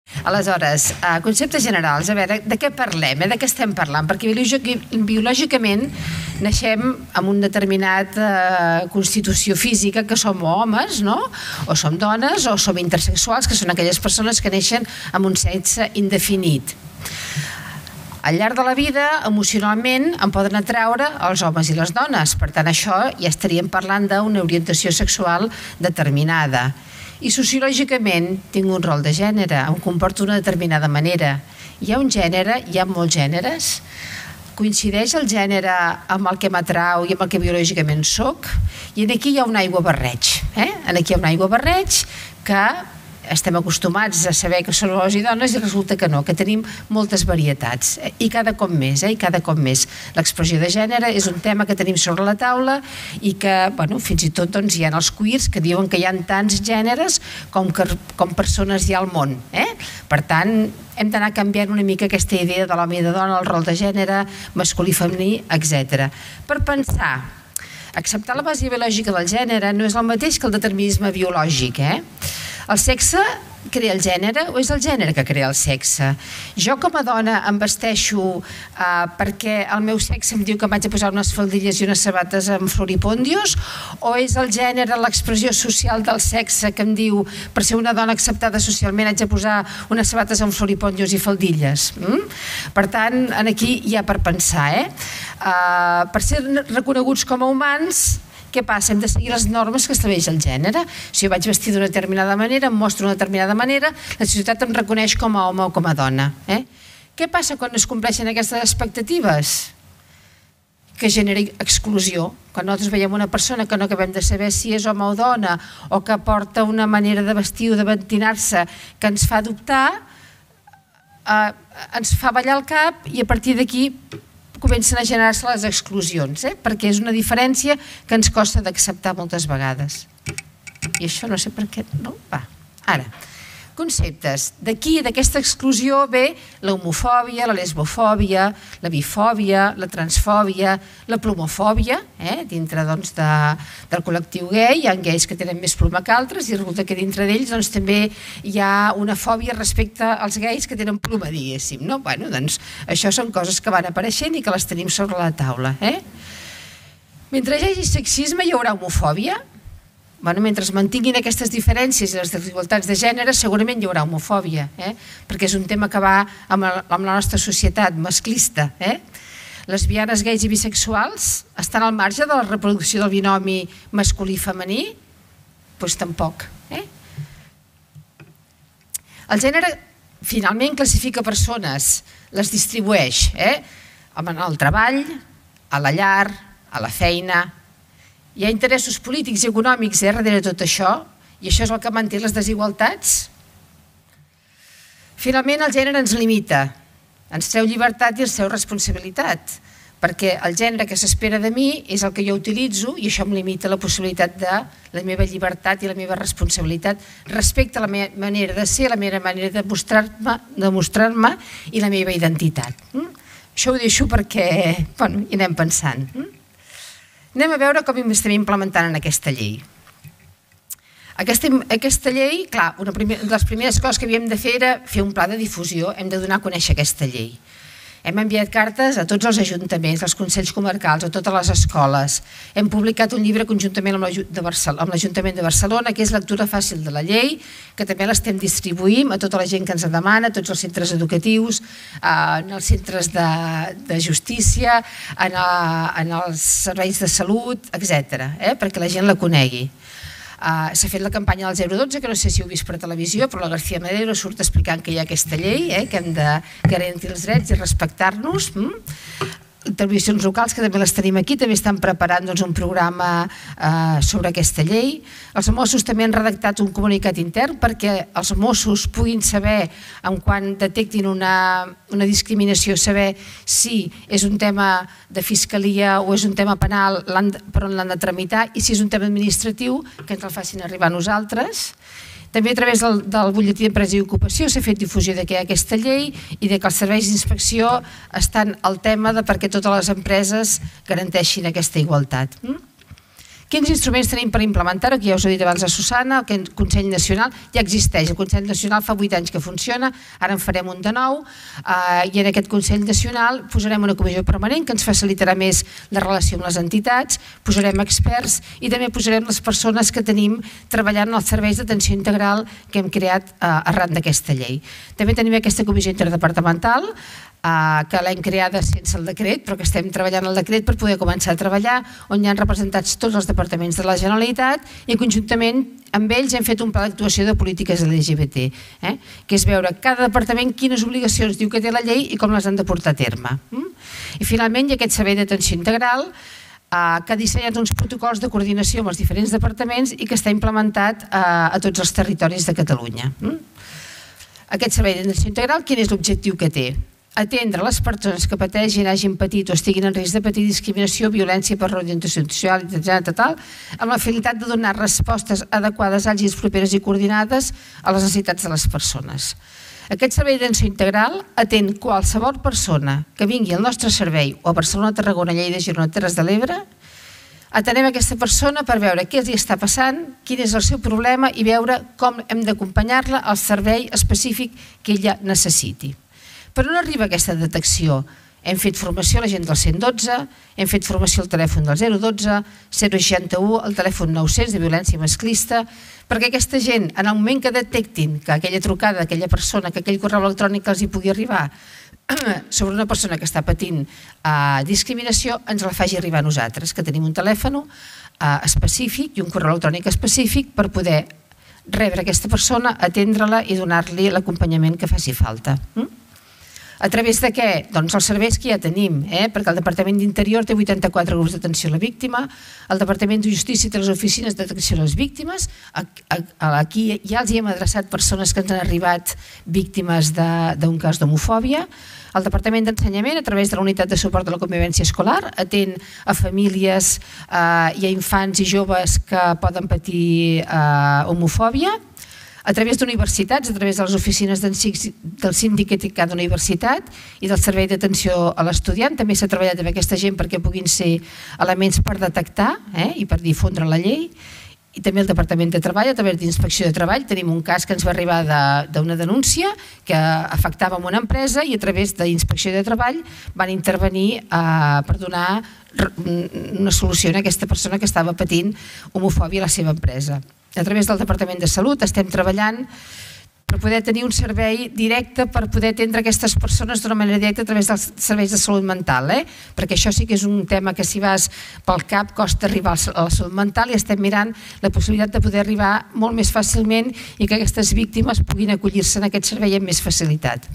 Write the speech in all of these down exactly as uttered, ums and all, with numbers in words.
Aleshores, conceptes generals, a veure, de què parlem, de què estem parlant? Perquè biològicament naixem amb una determinada constitució física, que som homes, no? O som dones, o som intersexuals, que són aquelles persones que neixen amb un sexe indefinit. Al llarg de la vida, emocionalment, em poden atraure els homes i les dones. Per tant, això ja estaríem parlant d'una orientació sexual determinada. I sociològicament tinc un rol de gènere, em comporto d'una determinada manera. Hi ha un gènere, hi ha molts gèneres. Coincideix el gènere amb el que m'atrau i amb el que biològicament soc? I aquí hi ha un aiguabarreig. Aquí hi ha un aiguabarreig que estem acostumats a saber que són homes i dones i resulta que no, que tenim moltes varietats i cada cop més, i cada cop més. L'expressió de gènere és un tema que tenim sobre la taula i que, bueno, fins i tot hi ha els queers que diuen que hi ha tants gèneres com persones hi ha al món. Per tant, hem d'anar canviant una mica aquesta idea de l'home i de dona, el rol de gènere, masculí, femení, etcètera. Per pensar, acceptar la base biològica del gènere no és el mateix que el determinisme biològic, eh? El sexe crea el gènere o és el gènere que crea el sexe? Jo com a dona em vesteixo perquè el meu sexe em diu que m'haig de posar unes faldilles i unes sabates amb floripondios, o és el gènere, l'expressió social del sexe que em diu per ser una dona acceptada socialment haig de posar unes sabates amb floripondios i faldilles? Per tant, aquí hi ha per pensar. Per ser reconeguts com a humans, què passa? Hem de seguir les normes que estableix el gènere. Si jo vaig vestir d'una determinada manera, em mostro d'una determinada manera, la societat em reconeix com a home o com a dona. Què passa quan es compleixen aquestes expectatives? Que genera exclusió. Quan nosaltres veiem una persona que no acabem de saber si és home o dona o que porta una manera de vestir o de ventinar-se que ens fa dubtar, ens fa ballar el cap i a partir d'aquí comencen a generar-se les exclusions, perquè és una diferència que ens costa d'acceptar moltes vegades. I això no sé per què, no? Va, ara, conceptes. D'aquí, d'aquesta exclusió, ve l'homofòbia, la lesbofòbia, la bifòbia, la transfòbia, la plomofòbia, dintre del col·lectiu gai. Hi ha gais que tenen més ploma que altres i resulta que dintre d'ells també hi ha una fòbia respecte als gais que tenen ploma, diguéssim. Bé, doncs això són coses que van apareixent i que les tenim sobre la taula. Mentre hi hagi sexisme hi haurà homofòbia. Mentre es mantinguin aquestes diferències i les desigualtats de gènere segurament hi haurà homofòbia, perquè és un tema que va amb la nostra societat masclista. Lesbianes, gais i bisexuals estan al marge de la reproducció del binomi masculí-femení? Doncs tampoc. El gènere finalment classifica persones, les distribueix en el treball, a la llar, a la feina. Hi ha interessos polítics i econòmics darrere de tot això i això és el que manté les desigualtats. Finalment, el gènere ens limita, ens treu llibertat i ens treu responsabilitat, perquè el gènere que s'espera de mi és el que jo utilitzo i això em limita la possibilitat de la meva llibertat i la meva responsabilitat respecte a la meva manera de ser, la meva manera de mostrar-me i la meva identitat. Això ho deixo perquè hi anem pensant. Anem a veure com estem implementant en aquesta llei. Aquesta llei, clar, una de les primeres coses que havíem de fer era fer un pla de difusió, hem de donar a conèixer aquesta llei. Hem enviat cartes a tots els ajuntaments, als consells comarcals, a totes les escoles. Hem publicat un llibre conjuntament amb l'Ajuntament de Barcelona, que és lectura fàcil de la llei, que també l'estem distribuint a tota la gent que ens en demana, a tots els centres educatius, en els centres de justícia, en els serveis de salut, etcètera, perquè la gent la conegui. S'ha fet la campanya del zero dotze, que no sé si heu vist per televisió, però la García Madero surt explicant que hi ha aquesta llei, que hem de garantir els drets i respectar-nos. Televisions locals, que també les tenim aquí, també estan preparant un programa sobre aquesta llei. Els Mossos també han redactat un comunicat intern perquè els Mossos puguin saber, quan detectin una discriminació, saber si és un tema de fiscalia o és un tema penal per on l'han de tramitar i si és un tema administratiu, que ens el facin arribar a nosaltres. També a través del butlletí d'empresa i ocupació s'ha fet difusió que hi ha aquesta llei i que els serveis d'inspecció estan al tema perquè totes les empreses garanteixin aquesta igualtat. Quins instruments tenim per implementar-ho? Que ja us ho he dit abans a Susana, el Consell Nacional ja existeix. El Consell Nacional fa vuit anys que funciona, ara en farem un de nou, i en aquest Consell Nacional posarem una comissió permanent que ens facilitarà més la relació amb les entitats, posarem experts i també posarem les persones que tenim treballant en els serveis d'atenció integral que hem creat arran d'aquesta llei. També tenim aquesta comissió interdepartamental que l'hem creada sense el decret, però que estem treballant el decret per poder començar a treballar, on hi ha representats tots els departaments de la Generalitat i conjuntament amb ells hem fet un pla d'actuació de polítiques L G B T, que és veure cada departament quines obligacions diu que té la llei i com les han de portar a terme. I finalment hi ha aquest servei d'atenció integral que ha dissenyat uns protocols de coordinació amb els diferents departaments i que està implementat a tots els territoris de Catalunya. Aquest servei d'atenció integral, quin és l'objectiu que té? Atendre les persones que pateixin, hagin patit o estiguin en risc de patir discriminació, violència per orientació sexual, tal, amb la finalitat de donar respostes adequades, àgils, properes i coordinades a les necessitats de les persones. Aquest servei d'atenció integral atén qualsevol persona que vingui al nostre servei o a Barcelona, Tarragona, Lleida, Girona, Terres de l'Ebre. Atenem aquesta persona per veure què li està passant, quin és el seu problema i veure com hem d'acompanyar-la al servei específic que ella necessiti. Però no arriba aquesta detecció. Hem fet formació a la gent del cent i dotze, hem fet formació al telèfon del zero dotze, zero seixanta-u, al telèfon nou-cents de violència masclista, perquè aquesta gent, en el moment que detectin que aquella trucada d'aquella persona, que aquell correu electrònic els hi pugui arribar sobre una persona que està patint discriminació, ens la faci arribar a nosaltres, que tenim un telèfon específic i un correu electrònic específic per poder rebre aquesta persona, atendre-la i donar-li l'acompanyament que faci falta. A través de què? Doncs els serveis que ja tenim, perquè el Departament d'Interior té vuitanta-quatre grups d'atenció a la víctima, el Departament de Justícia té les oficines d'atenció a les víctimes, aquí ja els hi hem adreçat persones que ens han arribat víctimes d'un cas d'homofòbia, el Departament d'Ensenyament, a través de la Unitat de Suport de la Convivència Escolar, atén a famílies i a infants i joves que poden patir homofòbia. A través d'universitats, a través de les oficines del síndic de cada universitat i del servei d'atenció a l'estudiant, també s'ha treballat amb aquesta gent perquè puguin ser elements per detectar i per difondre la llei. I també el Departament de Treball, a través d'Inspecció de Treball, tenim un cas que ens va arribar d'una denúncia que afectava una empresa i a través d'Inspecció de Treball van intervenir per donar una solució a aquesta persona que estava patint homofòbia a la seva empresa. A través del Departament de Salut estem treballant per poder tenir un servei directe per poder atendre aquestes persones d'una manera directa a través dels serveis de salut mental, perquè això sí que és un tema que si vas pel cap costa arribar a la salut mental i estem mirant la possibilitat de poder arribar molt més fàcilment i que aquestes víctimes puguin acollir-se en aquest servei amb més facilitat.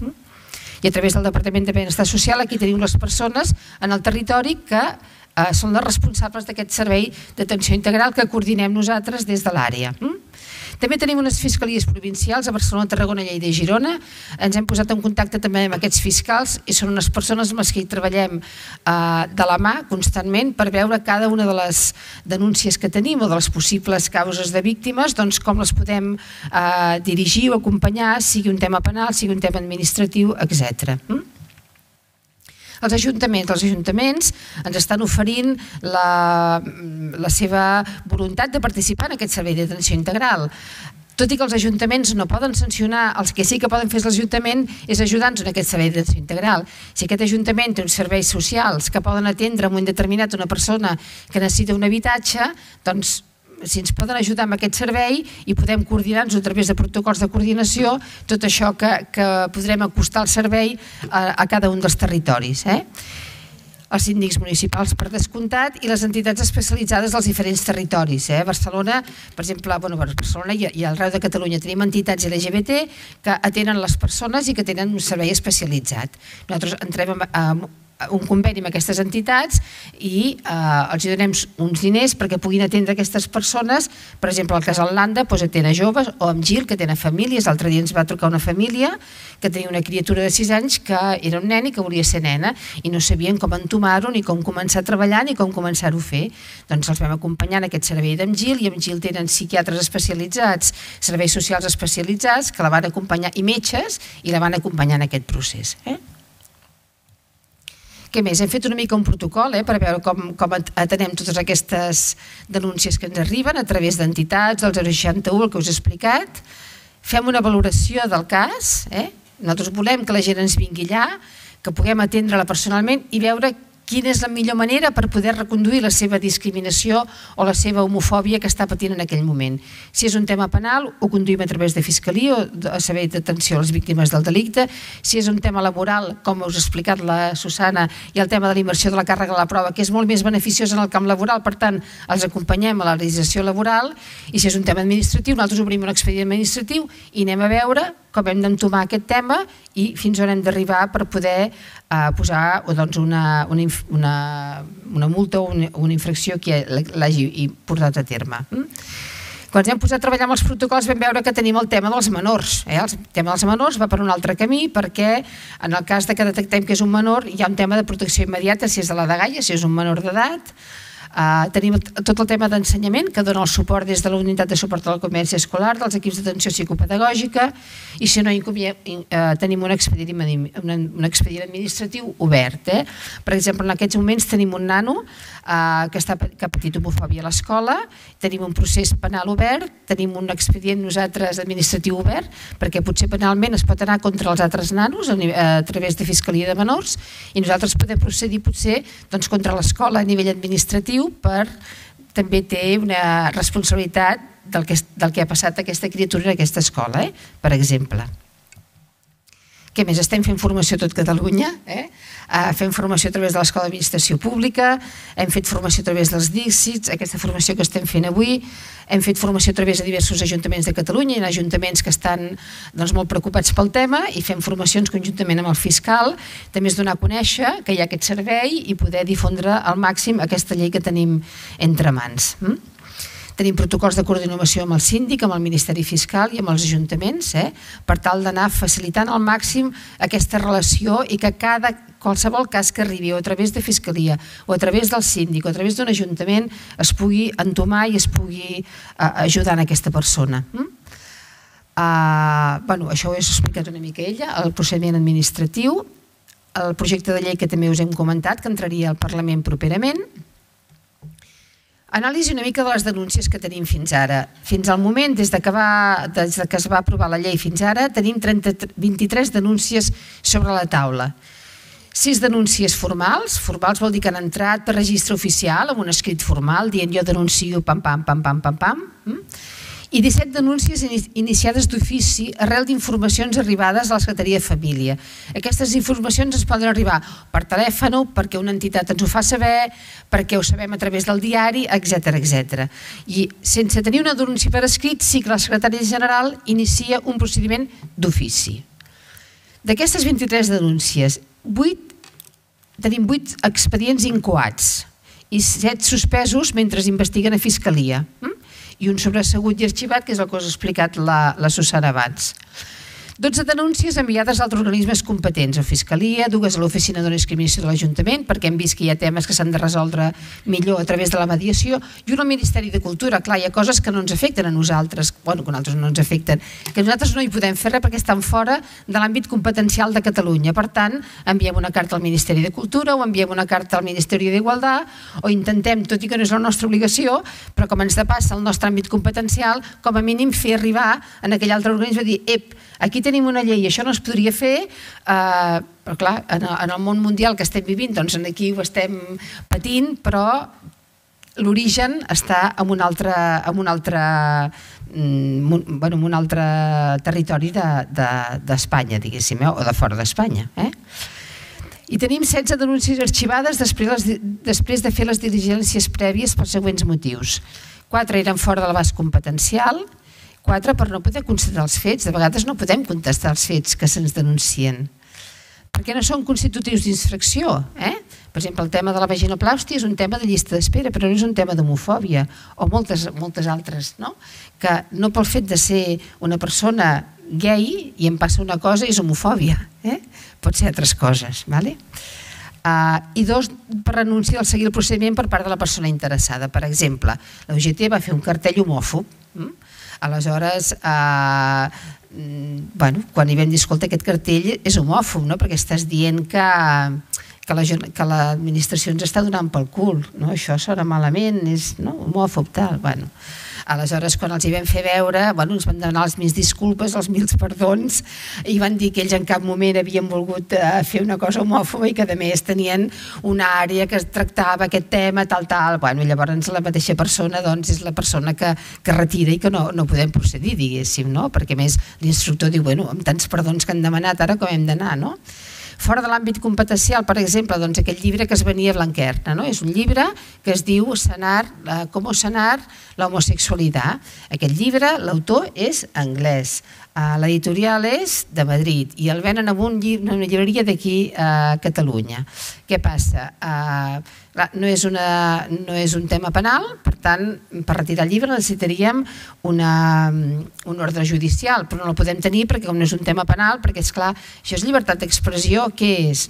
I a través del Departament de Benestar Social aquí tenim les persones en el territori que són les responsables d'aquest servei d'atenció integral que coordinem nosaltres des de l'àrea. També tenim unes fiscalies provincials a Barcelona, Tarragona, Lleida i Girona. Ens hem posat en contacte també amb aquests fiscals i són unes persones amb les que hi treballem de la mà constantment per veure cada una de les denúncies que tenim o de les possibles causes de víctimes, doncs com les podem dirigir o acompanyar, sigui un tema penal, sigui un tema administratiu, etcètera. Els ajuntaments, els ajuntaments ens estan oferint la seva voluntat de participar en aquest servei d'atenció integral. Tot i que els ajuntaments no poden sancionar, els que sí que poden fer l'Ajuntament és ajudar-nos en aquest servei d'atenció integral. Si aquest ajuntament té uns serveis socials que poden atendre en un moment determinat una persona que necessita un habitatge, doncs si ens poden ajudar amb aquest servei i podem coordinar-nos a través de protocols de coordinació, tot això que podrem acostar el servei a cada un dels territoris. Els síndics municipals per descomptat i les entitats especialitzades dels diferents territoris. Barcelona, per exemple, a Barcelona i arreu de Catalunya tenim entitats L G B T que atenen les persones i que tenen un servei especialitzat. Nosaltres entrem en un conveni amb aquestes entitats i els donem uns diners perquè puguin atendre aquestes persones. Per exemple, el Casal Landa atén a joves o amb Gil, que tenen famílies. L'altre dia ens va trucar una família que tenia una criatura de sis anys que era un nen i que volia ser nena i no sabien com entomar-ho, ni com començar a treballar, ni com començar-ho a fer. Doncs els vam acompanyar en aquest servei d'en Gil i amb Gil tenen psiquiatres especialitzats, serveis socials especialitzats que la van acompanyar i metges i la van acompanyar en aquest procés. Què més? Hem fet una mica un protocol per veure com atenem totes aquestes denúncies que ens arriben a través d'entitats, del zero seixanta u, el que us he explicat. Fem una valoració del cas. Nosaltres volem que la gent ens vingui allà, que puguem atendre-la personalment i veure quina és la millor manera per poder reconduir la seva discriminació o la seva homofòbia que està patint en aquell moment. Si és un tema penal, ho conduïm a través de Fiscalia o a Servei d'Atenció a les Víctimes del Delicte. Si és un tema laboral, com us ha explicat la Susana, i el tema de la immersió de la càrrega de la prova, que és molt més beneficiós en el camp laboral, per tant, els acompanyem a la legislació laboral. I si és un tema administratiu, nosaltres obrim un expedient administratiu i anem a veure com hem d'entomar aquest tema i fins on hem d'arribar per poder posar una multa o una infracció que l'hagi portat a terme. Quan ens hem posat a treballar amb els protocols vam veure que tenim el tema dels menors. El tema dels menors va per un altre camí perquè en el cas que detectem que és un menor hi ha un tema de protecció immediata si és de la dgaia, si és un menor d'edat. Tenim tot el tema d'ensenyament que dona el suport des de la unitat de suport a la convivència escolar, dels equips d'atenció psicopedagògica i si no tenim un expedient administratiu obert. Per exemple, en aquests moments tenim un nano que ha patit homofòbia a l'escola, tenim un procés penal obert, tenim un expedient nosaltres administratiu obert perquè potser penalment es pot anar contra els altres nanos a través de Fiscalia de Menors i nosaltres podem procedir potser contra l'escola a nivell administratiu per també té una responsabilitat del que ha passat a aquesta criatura en aquesta escola, per exemple. Què més? Estem fent formació a tot Catalunya, fem formació a través de l'Escola d'Administració Pública, hem fet formació a través dels díxits, aquesta formació que estem fent avui, hem fet formació a través de diversos ajuntaments de Catalunya, hi ha ajuntaments que estan molt preocupats pel tema i fem formacions conjuntament amb el fiscal, també és donar a conèixer que hi ha aquest servei i poder difondre al màxim aquesta llei que tenim entre mans. Tenim protocols de coordinació amb el síndic, amb el Ministeri Fiscal i amb els ajuntaments per tal d'anar facilitant al màxim aquesta relació i que cada qualsevol cas que arribi o a través de Fiscalia o a través del síndic o a través d'un ajuntament es pugui entomar i es pugui ajudar a aquesta persona. Això ho he explicat una mica ella, el procediment administratiu, el projecte de llei que també us hem comentat que entraria al Parlament properament. Anàlisi una mica de les denúncies que tenim fins ara. Fins al moment, des que es va aprovar la llei fins ara, tenim vint-i-tres denúncies sobre la taula. Sis denúncies formals, formals vol dir que han entrat per registre oficial amb un escrit formal dient jo denuncio pam pam pam pam pam pam i disset denúncies iniciades d'ofici arrel d'informacions arribades a la Secretaria de Família. Aquestes informacions ens poden arribar per telèfon, perquè una entitat ens ho fa saber, perquè ho sabem a través del diari, etcètera. I sense tenir una denúncia per escrit, sí que la secretària general inicia un procediment d'ofici. D'aquestes vint-i-tres denúncies, tenim vuit expedients incoats i set suspesos mentre investiguen a Fiscalia. I un sobresegut i arxivat, que és el que us ha explicat la Susana abans. dotze denúncies enviades a altres organismes competents, a Fiscalia, dues a l'Oficina de no discriminació de l'Ajuntament, perquè hem vist que hi ha temes que s'han de resoldre millor a través de la mediació, i un al Ministeri de Cultura. Clar, hi ha coses que no ens afecten a nosaltres, bueno, que a nosaltres no ens afecten, que nosaltres no hi podem fer res perquè estan fora de l'àmbit competencial de Catalunya. Per tant, enviem una carta al Ministeri de Cultura o enviem una carta al Ministeri d'Igualtat o intentem, tot i que no és la nostra obligació, però com ens depassa el nostre àmbit competencial, com a mínim fer arribar en aquell altre organisme a dir, ep, aquí tenim una llei i això no es podria fer, però clar, en el món mundial que estem vivint, doncs aquí ho estem patint, però l'origen està en un altre, en un altre, bueno, en un altre territori d'Espanya, diguéssim, o de fora d'Espanya. I tenim setze denúncies arxivades després de fer les diligències prèvies per següents motius. Quatre eren fora de l'abast competencial, quatre per no poder constatar els fets. De vegades no podem contestar els fets que se'ns denuncien, perquè no són constitutius d'infracció. Per exemple, el tema de la vaginoplastia és un tema de llista d'espera, però no és un tema d'homofòbia, o moltes altres, que no pel fet de ser una persona gay i em passa una cosa és homofòbia, pot ser altres coses. I dos, per renunciar al seguir el procediment per part de la persona interessada. Per exemple, la U G T va fer un cartell homòfob. Aleshores, quan hi vam dir, escolta, aquest cartell és homòfob, perquè estàs dient que que l'administració ens està donant pel cul, això sona malament, és homòfob, tal, bueno. Aleshores, quan els hi vam fer veure, ens van demanar les mil disculpes, els mil perdons, i van dir que ells en cap moment havien volgut fer una cosa homòfoba i que a més tenien una àrea que tractava aquest tema, tal, tal. Llavors la mateixa persona és la persona que retira i que no podem procedir, diguéssim, perquè a més l'instructor diu, bueno, amb tants perdons que han demanat, ara com hem d'anar, no? Fora de l'àmbit competencial, per exemple, aquell llibre que es venia a Blanquerna, és un llibre que es diu Com sanar la homosexualitat. Aquest llibre, l'autor és anglès, l'editorial és de Madrid i el venen en una llibreria d'aquí a Catalunya. Què passa? No és un tema penal, per tant, per retirar el llibre necessitaríem un ordre judicial, però no el podem tenir perquè com no és un tema penal, perquè és clar, això és llibertat d'expressió, què és?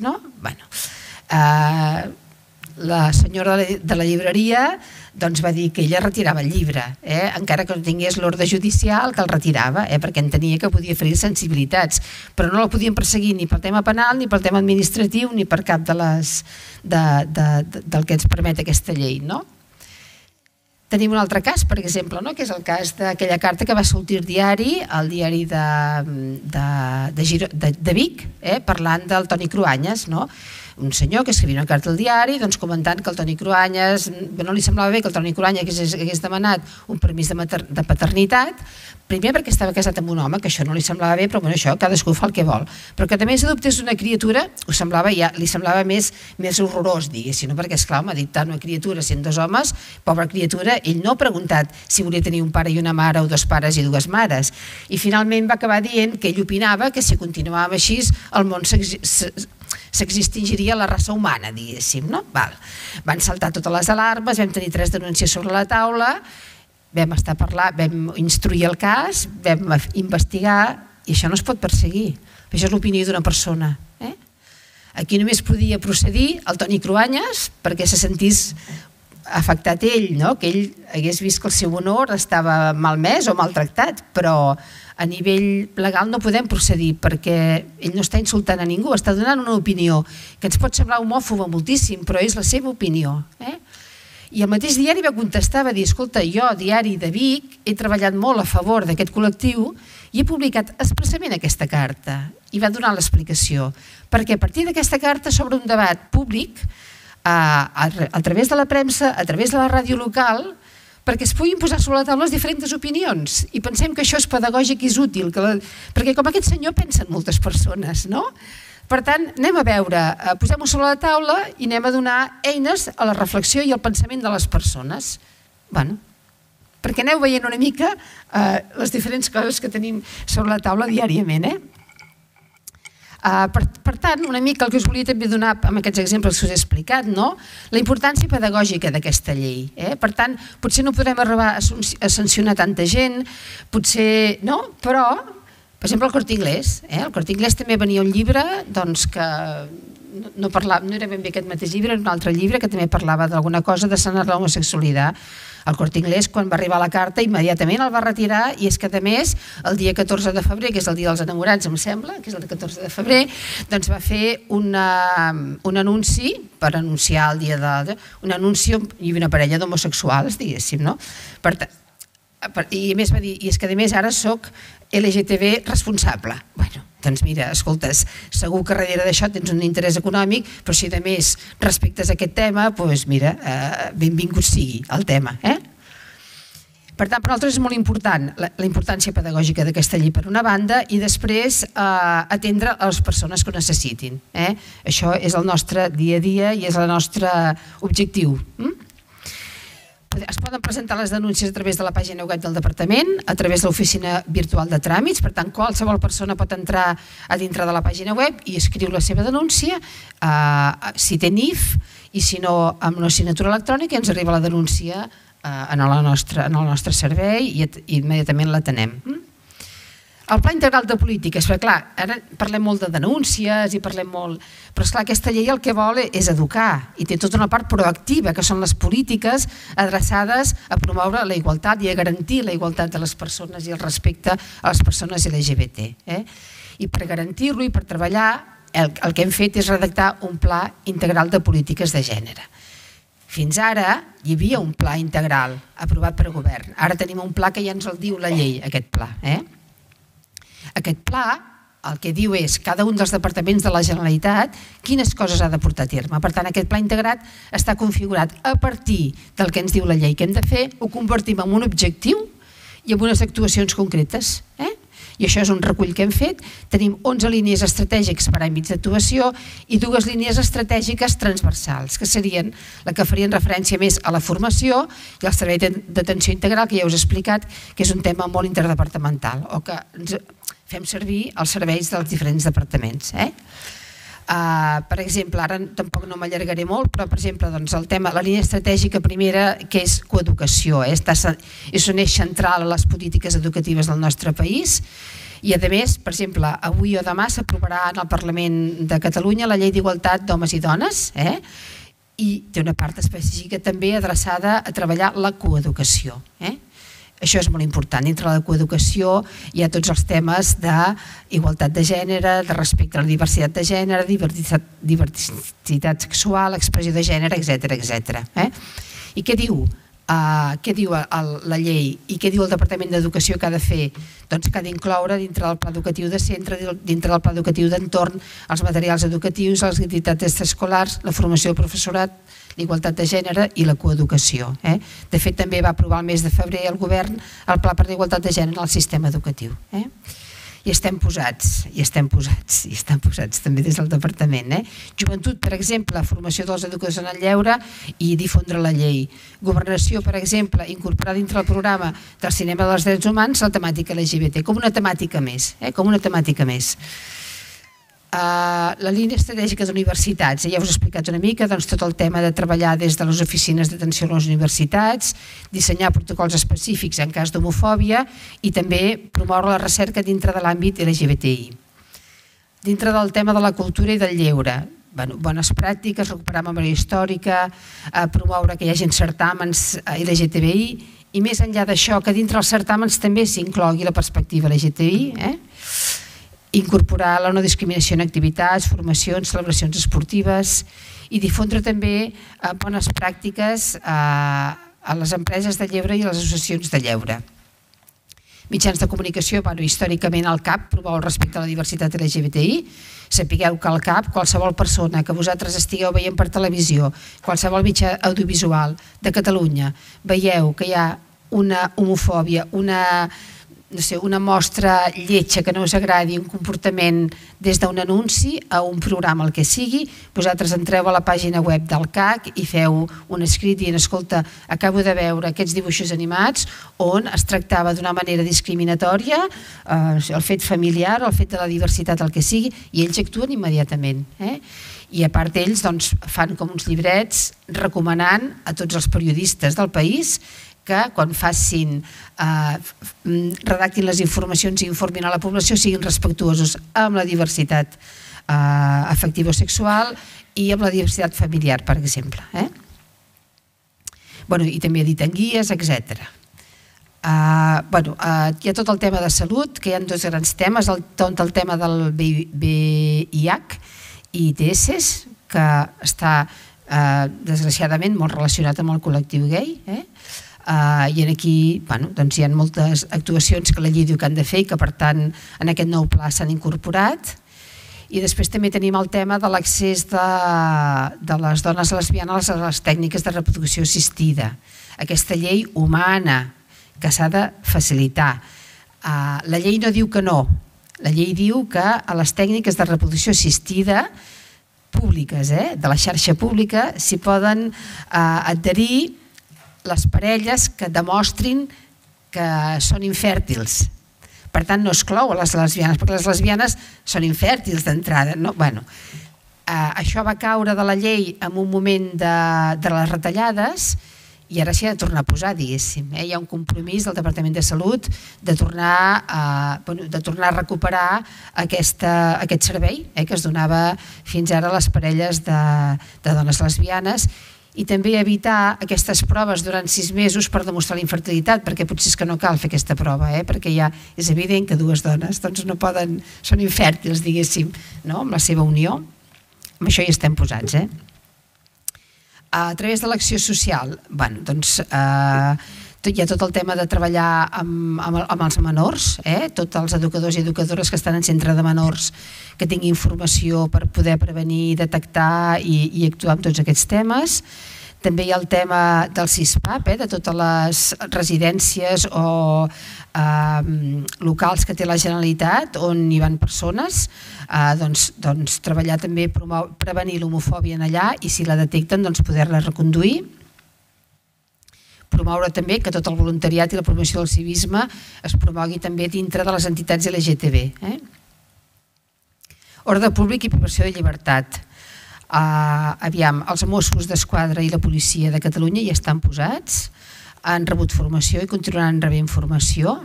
La senyora de la llibreria va dir que ella retirava el llibre, encara que no tingués l'ordre judicial que el retirava, perquè entenia que podia ferir sensibilitats, però no la podien perseguir ni pel tema penal, ni pel tema administratiu, ni per cap del que ens permet aquesta llei. Tenim un altre cas, per exemple, que és el cas d'aquella carta que va sortir al diari, al diari de Vic, parlant del Toni Cruanyes, un senyor que escrivia una carta al diari comentant que el Toni Cruanyes no li semblava bé que el Toni Cruanyes hagués demanat un permís de paternitat, primer perquè estava casat amb un home, que això no li semblava bé, però això cadascú fa el que vol, però que també s'adoptés una criatura li semblava més horrorós, diguéssim, perquè esclar, m'ha dit tant una criatura sent dos homes, pobra criatura, ell no ha preguntat si volia tenir un pare i una mare o dos pares i dues mares, i finalment va acabar dient que ell opinava que si continuàvem així el món s'extingiria la raça humana, diguéssim. Van saltar totes les alarmes, vam tenir tres denúncies sobre la taula, vam estar parlant, vam instruir el cas, vam investigar, i això no es pot perseguir. Això és l'opinió d'una persona. Aquí només podia procedir el Toni Cruanyes perquè se sentís afectat ell, que ell hagués vist que el seu honor estava malmès o maltractat, però a nivell legal no podem procedir perquè ell no està insultant a ningú, està donant una opinió que ens pot semblar homòfoba moltíssim, però és la seva opinió. I el mateix diari va contestar, va dir, escolta, jo, diari de Vic, he treballat molt a favor d'aquest col·lectiu i he publicat expressament aquesta carta. I va donar l'explicació, perquè a partir d'aquesta carta s'obre un debat públic a través de la premsa, a través de la ràdio local, perquè es puguin posar sobre la taula les diferents opinions i pensem que això és pedagògic i és útil, perquè com aquest senyor pensen moltes persones, no? Per tant, anem a veure, posem-ho sobre la taula i anem a donar eines a la reflexió i al pensament de les persones. Bé, perquè aneu veient una mica les diferents coses que tenim sobre la taula diàriament, eh? Per tant, una mica el que us volia també donar amb aquests exemples que us he explicat, la importància pedagògica d'aquesta llei. Per tant, potser no podrem arribar a sancionar tanta gent, potser no, però, per exemple, el Corte Inglés. El Corte Inglés també venia un llibre que no era ben bé aquest mateix llibre, era un altre llibre que també parlava d'alguna cosa de sanar l'homosexualitat. El Corte Inglés, quan va arribar la carta, immediatament el va retirar i és que, a més, el dia catorze de febrer, que és el dia dels enamorats, em sembla, que és el catorze de febrer, doncs va fer un anunci per anunciar el dia de... un anunci i una parella d'homosexuals, diguéssim, no? I a més va dir, i és que a més ara soc L G T B responsable. Bueno, doncs mira, escoltes, segur que darrere d'això tens un interès econòmic, però si a més respectes a aquest tema, doncs mira, benvingut sigui el tema. Per tant, per nosaltres és molt important la importància pedagògica d'aquesta llei per una banda i després atendre a les persones que ho necessitin. Això és el nostre dia a dia i és el nostre objectiu. Es poden presentar les denúncies a través de la pàgina web del Departament, a través de l'oficina virtual de tràmits, per tant, qualsevol persona pot entrar a dintre de la pàgina web i escriu la seva denúncia, si té N I F, i si no, amb una signatura electrònica ens arriba la denúncia en el nostre servei i immediatament l'atenem. El Pla Integral de Polítiques, perquè clar, ara parlem molt de denúncies i parlem molt, però esclar, aquesta llei el que vol és educar i té tota una part proactiva, que són les polítiques adreçades a promoure la igualtat i a garantir la igualtat de les persones i el respecte a les persones L G B T. I per garantir-lo i per treballar el, el que hem fet és redactar un pla integral de polítiques de gènere. Fins ara hi havia un pla integral aprovat per govern. Ara tenim un pla que ja ens el diu la llei, aquest pla. Eh? Aquest pla el que diu és cada un dels departaments de la Generalitat quines coses ha de portar a terme. Per tant, aquest pla integrat està configurat a partir del que ens diu la llei que hem de fer, ho convertim en un objectiu i en unes actuacions concretes. Eh? I això és un recull que hem fet. Tenim onze línies estratègiques per àmbits d'actuació i dues línies estratègiques transversals, que serien la que farien referència més a la formació i al servei d'atenció integral, que ja us he explicat que és un tema molt interdepartamental, o que ens fem servir els serveis dels diferents departaments. Eh? Uh, per exemple, ara tampoc no m'allargaré molt, però per exemple doncs, el tema, la línia estratègica primera, que és coeducació, eh? Està, és un eix central a les polítiques educatives del nostre país i a més, per exemple, avui o demà s'aprovarà en el Parlament de Catalunya la llei d'igualtat d'homes i dones, eh? I té una part específica també adreçada a treballar la coeducació. Eh? Això és molt important. Dintre la coeducació hi ha tots els temes d'igualtat de gènere, de respecte a la diversitat de gènere, diversitat, diversitat sexual, expressió de gènere, etcètera, etcètera. Eh? I què diu? Uh, què diu el, la llei i què diu el Departament d'Educació que ha de fer? Doncs que ha d'incloure dintre del pla educatiu de centre, dintre del pla educatiu d'entorn, els materials educatius, les activitats extraescolars, la formació del professorat, l'igualtat de gènere i la coeducació. Eh? De fet, també va aprovar el mes de febrer el govern el pla per l'igualtat de gènere al sistema educatiu. Eh? I estem posats, i estem posats, i estem posats també des del departament. Eh? Joventut, per exemple, formació dels educadors en el lleure i difondre la llei. Governació, per exemple, incorporar dintre el programa del cinema dels drets humans la temàtica L G B T, com una temàtica més, eh? com una temàtica més. Uh, la línia estratègica d'universitats, ja us he explicat una mica doncs, tot el tema de treballar des de les oficines d'atenció a les universitats, dissenyar protocols específics en cas d'homofòbia i també promoure la recerca dintre de l'àmbit L G B T I. Dintre del tema de la cultura i del lleure, bueno, bones pràctiques, recuperar memòria històrica, uh, promoure que hi hagi certàmens L G T B I i més enllà d'això que dintre els certàmens també s'inclogui la perspectiva L G T B I, eh? Incorporar la no discriminació en activitats, formacions, celebracions esportives i difondre també eh, bones pràctiques eh, a les empreses de lleure i a les associacions de lleure. Mitjans de comunicació, bueno, històricament el C A P promou el respecte a la diversitat L G B T I. Sapigueu que el C A P, qualsevol persona que vosaltres estigueu veient per televisió, qualsevol mitjà audiovisual de Catalunya, veieu que hi ha una homofòbia, una... no sé, una mostra lletja que no us agradi, un comportament des d'un anunci a un programa, el que sigui, vosaltres entreu a la pàgina web del C A C i feu un escrit dient, escolta, acabo de veure aquests dibuixos animats on es tractava d'una manera discriminatòria eh, el fet familiar o el fet de la diversitat, el que sigui, i ells actuen immediatament. Eh? I a part ells doncs, fan com uns llibrets recomanant a tots els periodistes del país que quan facin, eh, redactin les informacions i informin a la població siguin respectuosos amb la diversitat eh, afectiva o sexual i amb la diversitat familiar, per exemple. Eh? Bueno, i també editen guies, etcètera. Uh, bueno, uh, hi ha tot el tema de salut, que hi ha dos grans temes, el, tot el tema del V I H i I T S, que està uh, desgraciadament molt relacionat amb el col·lectiu gay, eh? Uh, i aquí bueno, doncs hi ha moltes actuacions que la llei diu que han de fer i que per tant en aquest nou pla s'han incorporat. I després també tenim el tema de l'accés de, de les dones lesbianes a les tècniques de reproducció assistida, aquesta llei humana que s'ha de facilitar. Uh, la llei no diu que no, la llei diu que a les tècniques de reproducció assistida públiques, eh, de la xarxa pública, s'hi poden uh, adherir les parelles que demostrin que són infèrtils. Per tant, no exclou a les lesbianes, perquè les lesbianes són infèrtils d'entrada. No? Bueno, eh, això va caure de la llei en un moment de, de les retallades i ara s'hi ha de tornar a posar, diguéssim. Eh? Hi ha un compromís del Departament de Salut de tornar a, bueno, de tornar a recuperar aquesta, aquest servei eh, que es donava fins ara a les parelles de, de dones lesbianes. i també evitar aquestes proves durant sis mesos per demostrar la infertilitat, perquè potser és que no cal fer aquesta prova, eh? Perquè ja és evident que dues dones doncs no poden, són infèrtils, diguéssim, no? Amb la seva unió. Amb això hi estem posats. Eh? A través de l'acció social, bueno, doncs, eh, hi ha tot el tema de treballar amb, amb, amb els menors, eh? Tots els educadors i educadores que estan en centre de menors que tinguin informació per poder prevenir, detectar i, i actuar en tots aquests temes. També hi ha el tema del CISPAP, eh? De totes les residències o eh, locals que té la Generalitat on hi van persones, eh, doncs, doncs treballar també, promou, prevenir l'homofòbia en allà i si la detecten doncs poder-la reconduir. Promoure també que tot el voluntariat i la promoció del civisme es promogui també dintre de les entitats L G T B. Eh? Ordre públic i privació de llibertat. Uh, aviam, els Mossos d'Esquadra i la policia de Catalunya hi estan posats, han rebut formació i continuaran rebent formació,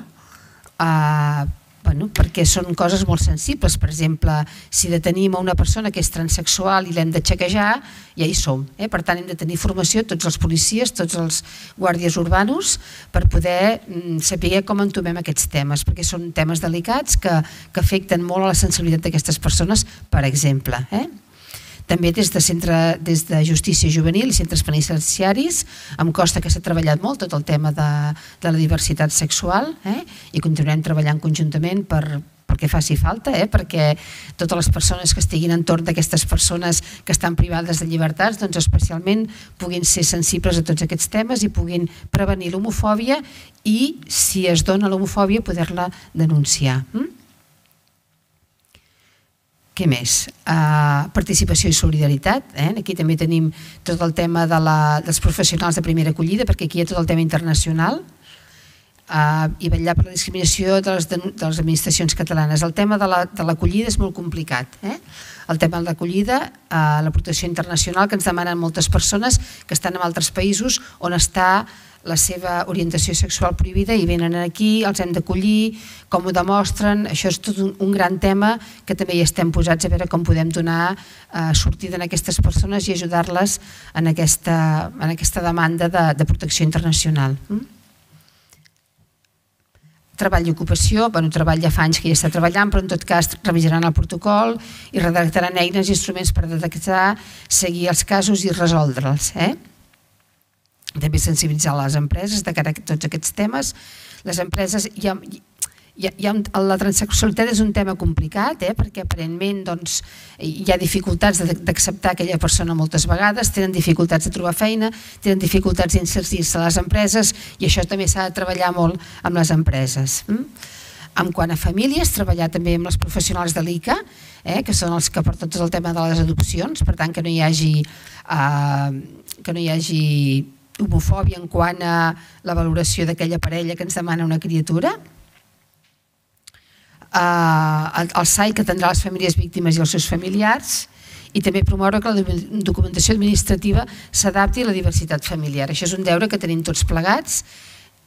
uh, bueno, perquè són coses molt sensibles. Per exemple, si detenim a una persona que és transexual i l'hem de xequejar, ja hi som. Eh? Per tant, hem de tenir formació tots els policies, tots els guàrdies urbanos, per poder mm, saber com entomem aquests temes, perquè són temes delicats que, que afecten molt a la sensibilitat d'aquestes persones, per exemple. Eh? També des de, centre, des de justícia juvenil i centres penitenciaris em consta que s'ha treballat molt tot el tema de, de la diversitat sexual, eh? I continuarem treballant conjuntament per, perquè faci falta, eh? Perquè totes les persones que estiguin entorn d'aquestes persones que estan privades de llibertats doncs especialment puguin ser sensibles a tots aquests temes i puguin prevenir l'homofòbia i, si es dona l'homofòbia, poder-la denunciar. Mm? Què més? Uh, participació i solidaritat. Eh? Aquí també tenim tot el tema de la, dels professionals de primera acollida, perquè aquí hi ha tot el tema internacional, uh, i vetllar per la discriminació de les, de les administracions catalanes. El tema de l'acollida la, és molt complicat. Eh? El tema de l'acollida, uh, la protecció internacional que ens demanen moltes persones que estan en altres països on està la seva orientació sexual prohibida i venen aquí, els hem d'acollir, com ho demostren. Això és tot un, un gran tema que també hi estem posats a veure com podem donar eh, sortida a aquestes persones i ajudar-les en, aquesta, en aquesta demanda de, de protecció internacional. Mm? Treball i ocupació, bueno, treball ja fa anys que hi està treballant, però en tot cas revisaran el protocol i redactaran eines i instruments per detectar, seguir els casos i resoldre'ls. Eh? També sensibilitzar les empreses de cara a tots aquests temes. Les empreses, hi ha, hi ha, hi ha, la transsexualitat és un tema complicat, eh, perquè aparentment doncs, hi ha dificultats d'acceptar aquella persona moltes vegades, tenen dificultats de trobar feina, tenen dificultats d'inserir-se a les empreses i això també s'ha de treballar molt amb les empreses. Mm? En quant a famílies, treballar també amb els professionals de l'I C A, eh, que són els que porten tot el tema de les adopcions, per tant que no hi hagi, eh, que no hi hagi homofòbia en quant a la valoració d'aquella parella que ens demana una criatura. Uh, el S A I que atendrà les famílies víctimes i els seus familiars i també promoure que la documentació administrativa s'adapti a la diversitat familiar. Això és un deure que tenim tots plegats,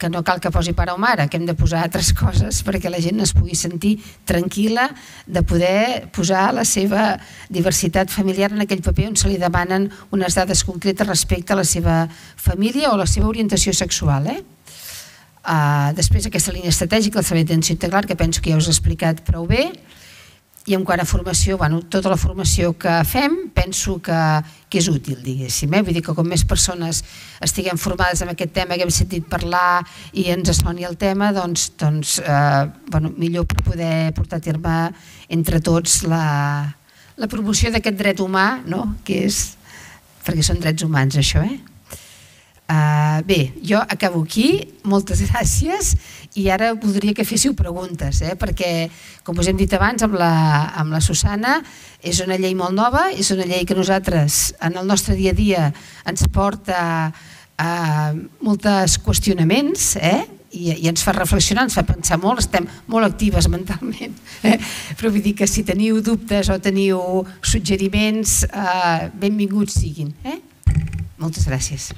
que no cal que posi pare o mare, que hem de posar altres coses perquè la gent es pugui sentir tranquil·la de poder posar la seva diversitat familiar en aquell paper on se li demanen unes dades concretes respecte a la seva família o la seva orientació sexual. Eh? Uh, després aquesta línia estratègica, el servei d'atenció integral, que penso que ja us he explicat prou bé, i en quant a formació, bueno, tota la formació que fem penso que, que és útil, diguéssim. Eh? Vull dir que com més persones estiguem formades en aquest tema, que hem sentit parlar i ens soni el tema, doncs, doncs eh, bueno, millor per poder portar a terme entre tots la, la promoció d'aquest dret humà, no? Que és, perquè són drets humans això, eh? Uh, bé, jo acabo aquí, moltes gràcies, i ara voldria que féssiu preguntes, eh? Perquè, com us hem dit abans amb la, amb la Susana, és una llei molt nova, és una llei que nosaltres en el nostre dia a dia ens porta a molts qüestionaments, eh? I, i ens fa reflexionar, ens fa pensar molt, estem molt actives mentalment, eh? Però vull dir que si teniu dubtes o teniu suggeriments, eh, benvinguts siguin. Eh? Moltes gràcies.